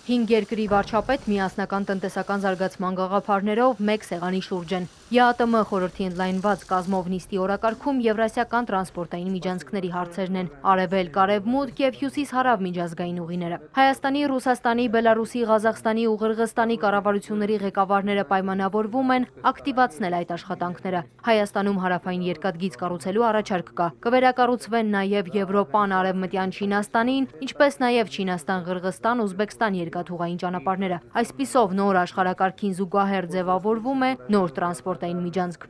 5 երկրի վարչապետ միասնական տնտեսական զարգացման գաղափարներով մեկ սեղանի շուրջ են։ ԵԱՏՄ խորհրդի ընդլայնված կազմով նիստի օրակարգում եվրասիական տրանսպորտային միջանցքների հարցերն են, արևելք, արևմուտք եւ հյուսիս-հարավ միջազգային ուղիները։ Հայաստանի, Ռուսաստանի, Բելարուսի, Ղազախստանի ու Ղրղստանի կառավարությունների ղեկավարները պայմանավորվում են ակտիվացնել այդ աշխատանքները։ Հայաստանում հարավային երկաթգիծ կառուցելու առաջարկ կա։ Կվերակառուցվեն նաեւ Եվրոպան, Արևմտյան Չինաստանին, ինչպես նաեւ Չինաստան, Ղրղստան, Ուզբեկստան երկաթուղային ճանապարհները։ Այսպիսով նոր աշխարհակարգին զուգահեռ ձևավորվում է նոր տրանսպորտային միջանցք։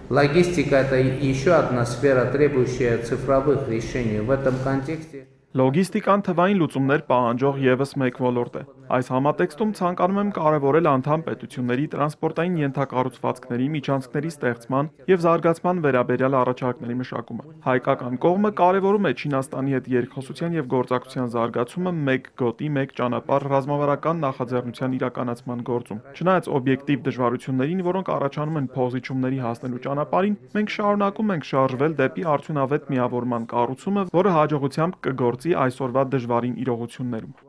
Логистика – это еще одна сфера, требующая цифровых решений. В этом контексте Լոգիստիկան թվային լուծումներ պահանջող եւս մեկ ոլորտ է։ Այս համատեքստում ցանկանում եմ կարևորել անդամ պետությունների տրանսպորտային ենթակառուցվածքների միջանցքների ստեղծման եւ զարգացման վերաբերյալ առաջարկների մշակումը։ Հայկական կողմը կարևորում է Չինաստանի հետ երկխոսության եւ գործակցության զարգացումը մեկ գոտի, մեկ ճանապարհ ռազմավարական նախաձեռնության իրականացման գործում։ Չնայած օբյեկտիվ դժվարություններին, որոնք առաջանում են փոխզիջումների հասնելու ճանապարհին, մենք շարունակում ենք շարժվել դեպի արդյունավետ միավորման կառուցումը, որը հաջողությամբ կգործի այսօրվա դժվարին իրողություններում։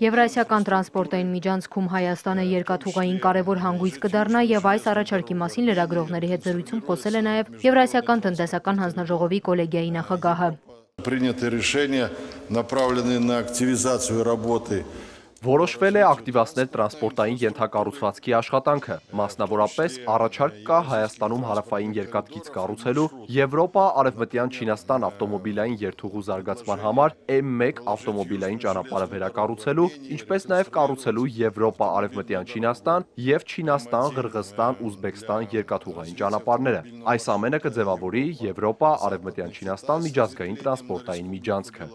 Եվրասիական տրանսպորտային միջանցքում Հայաստանը երկաթուղային կարևոր հանգույց կդառնա եւ այս առաջարկի մասին լրագրողների հետ զրույցում խոսել է նաեւ Եվրասիական տնտեսական հանձնաժողովի կոլեգիայի նախագահը։ Приняты решения, направленные на активизацию работы. Որոշվել է ակտիվացնել տրանսպորտային ենթակառուցվածքի աշխատանքը, մասնավորապես առաջարկ կա Հայաստանում հարավային երկաթգիծ կառուցելու Եվրոպա-Արևմտյան Չինաստան ավտոմոբիլային երթուղու զարգացման համար M1 ավտոմոբիլային ճանապարհը վերակառուցելու, ինչպես նաև կառուցելու Եվրոպա-Արևմտյան Չինաստան եւ Չինաստան-Ղրղստան-Ուզբեկստան երկաթուղային ճանապարհները։ Այս ամենը կձևավորի Եվրոպա-Արևմտյան Չինաստան միջազգային տրանսպորտային միջանցքը։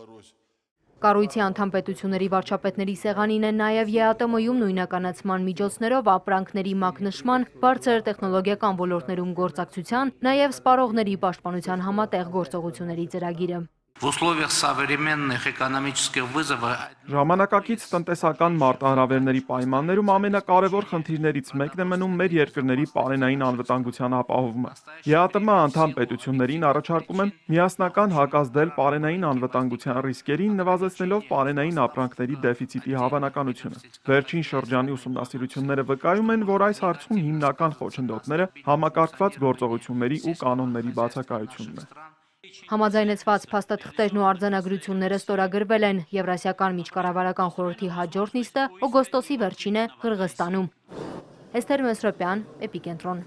Կառույցի անդամ պետությունների վարչապետների սեղանին են նաև ԵԱՏՄ-ում նույնականացման միջոցներով ապրանքների մակնշման, բարձր տեխնոլոգիական ոլորտներում գործակցության, նաև սպառողների պաշտպանության համատեղ գործողությունների ծրագիրը։ в условиях современных экономических вызовов Ժամանակակից տնտեսական մարտահրավերների պայմաններում ամենակարևոր խնդիրներից մեկն է մնում մեր երկրների պարենային անվտանգության ապահովումը։ ԵԱՏՄ անդամ պետություններին առաջարկում եմ միասնական հակազդել պարենային անվտանգության ռիսկերին, նվազեցնելով պարենային ապրանքների դեֆիցիտի հավանականությունը։ Վերջին շրջանի ուսումնասիրությունները վկայում են, որ այս հարցում հիմնական խոչընդոտները համակարգված գործողությունների ու կանոնների բացակայությունն է։ Համաձայնեցված փաստաթղթերն ու արձանագրությունները ստորագրվել են Եվրասիական միջկառավարական խորհրդի հաջորդ նիստը օգոստոսի վերջին է Ղրղստանում։ Էսթեր Մեսրոպյան, Էպիկենտրոն։